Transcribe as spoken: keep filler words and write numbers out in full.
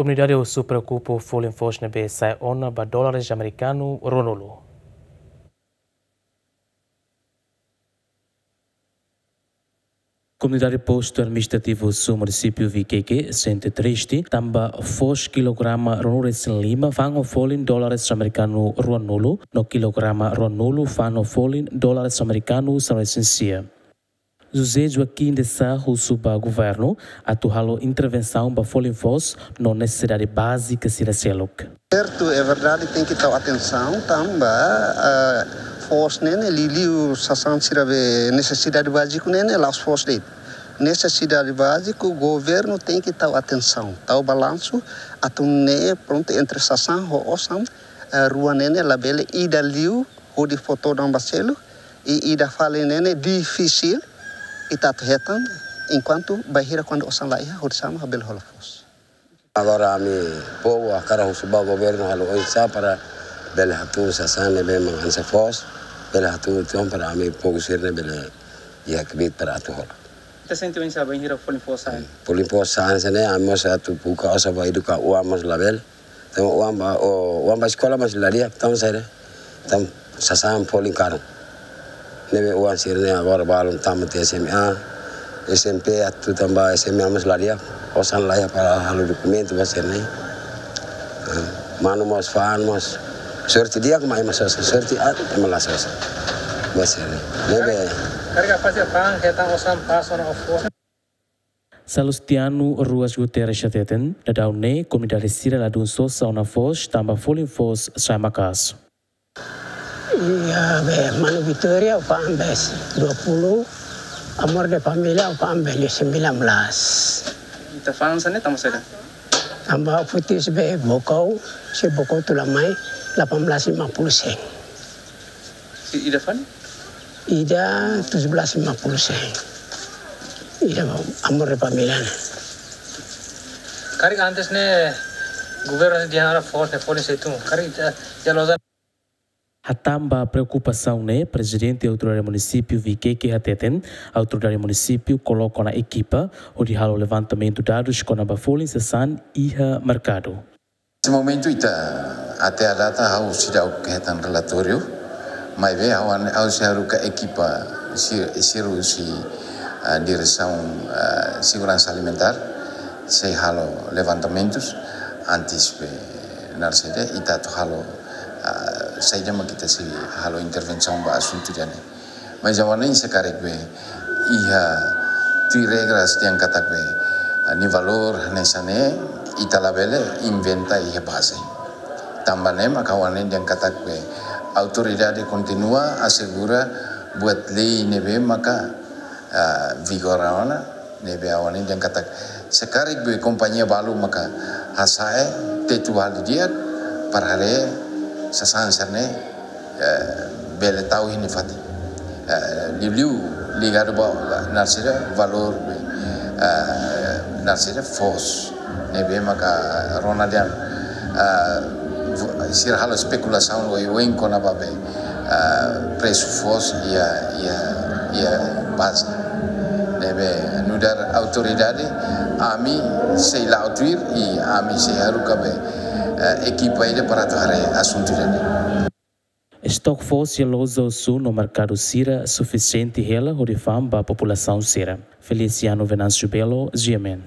Komunidade Osu preokupa ho folin foos ne'ebé sa'e ona ba dólares amerikanu ruanulu. Komunidade Postu Administrativu Osu, Munisípiu Viqueque, sente triste tanba foos kilograma ruanulu-resin-lima fa'an ho folin dólares amerikanu ruanulu, no kilograma ruanulu fa'an ho folin dólares amerikanu sanulu-resin-sia. José Joaquim de Sá husu ba governu atu halo intervensaun ba folin foos no nesesidade bázika sira seluk. Sertu, é verdade, tenke tau atensaun tanba, ah, foos ne'e ne'e liuliu sasán sira be nesesidade báziku ne'e ne'e la'ós foos de'it. Nesesidade báziku, governu tenke tau atensaun, tau balansu, atu nune'e prontu entre sasán ho osan, ah, rua ne'e ne'e labele ida liu hodi fó todan ba seluk, i ida fali ne'e ne'e difisil ita atu hetan, enkuantu bainhira kuandu osan la iha, hodi sá mak bele hola foos. Agora ami povu hakarak husu ba governu halo oinsá para bele hatún sasán ne'ebé mak hanesan foos, bele hatún uitoan para ami povu sira-ne'e bele iha kbiit para atu hola. Ita sente oinsá bainhira folin foos sa'e? Folin foos sa'e hanesan ne'e, ami mós atu buka osan ba eduka oan mós labele. Tanba oan ba, o, oan ba eskola mós la di'ak, tanba saida? Tanba sasán folin karun. Ne'ebé oan sira-ne'e agora balun tama tiha S M A, S M P atu tama ba S M A mós la di'ak, osan la iha para halo dokumentu ba sira-ne'e. Ah, manu mós fa'an mós. Sorte di'ak mak ema sosa, sorte aat ema la sosa. Ba sira-ne'e. Ne'ebé. Karik, karik apa sih, fa'an, hetan osan pas ona foos? Salustiano Ruas Guterres hateten, daudaun ne'e komunidade sira ladún sosa ona foos tanba folin foos sa'e maka'as. Iha be manu Vitória, fa'an be dua puluh, Amor de Família, fa'an be sembilan belas. Ita fa'an hanesan ne'e tanba saida? Tanba futis be bokau, se bokau tulamai, delapan belas lima puluh sen. Se ida fali? Ida tujuh belas lima puluh sen. Ida Amor de Família ne'e. Karik antes ne'e governu dehan foos ne'e folin sei tun. Karik ita, ita loja. Hatán ba preokupasaun ne'e, Prezidente Autoridade Munisípiu Viqueque hateten, autoridade munisípiu koloka ona ekipa hodi halo levantamentu dadus kona-ba folin sasán iha merkadu. Neste momentu ita, até à data, ha'u seidauk hetan relatóriu, maibé ha'u an-, ha'u sei haruka ekipa si-, sira husi, ah, Diresaun, ah, Seguransa Alimentár, sei halo levantamentus, antes be naran saida, ita atu halo, ah, saida mak ita sei halo intervensaun ba asuntu ida-ne'e. Mas agora ne'e se karik be iha tuir regras dehan katak be, ah, nia valór hanesan ne'e, ita labele inventa iha baze. Tanba ne'e maka agora ne'e dehan katak be autoridade kontinua asegura buat lei ne'ebé maka, ah, vigora ona, ne'ebé agora ne'e dehan katak se karik be kompañia balu maka hasa'e tetu hali di'ak para haree sasán sira-ne'e, eh, bele tau iha nia fatin. Eh, liuliu ligadu ba, ba naran saida, valór, eh, naran saida, foos. Ne'ebé maka rona dehan, eh, fu-, sira halo espekulasaun oioin kona-ba be, eh, presu foos iha, iha, iha baze. Ne'ebé nu'udar autoridade, ami sei la'o tuir i ami sei haruka be, eh, ekipa ida para atu haree asuntu ida-ne'e. Estok foos iha loja Osu no merkadu sira sufisiente hela hodi fa'an ba populasaun sira. Feliciano Venâncio Belo, G M N.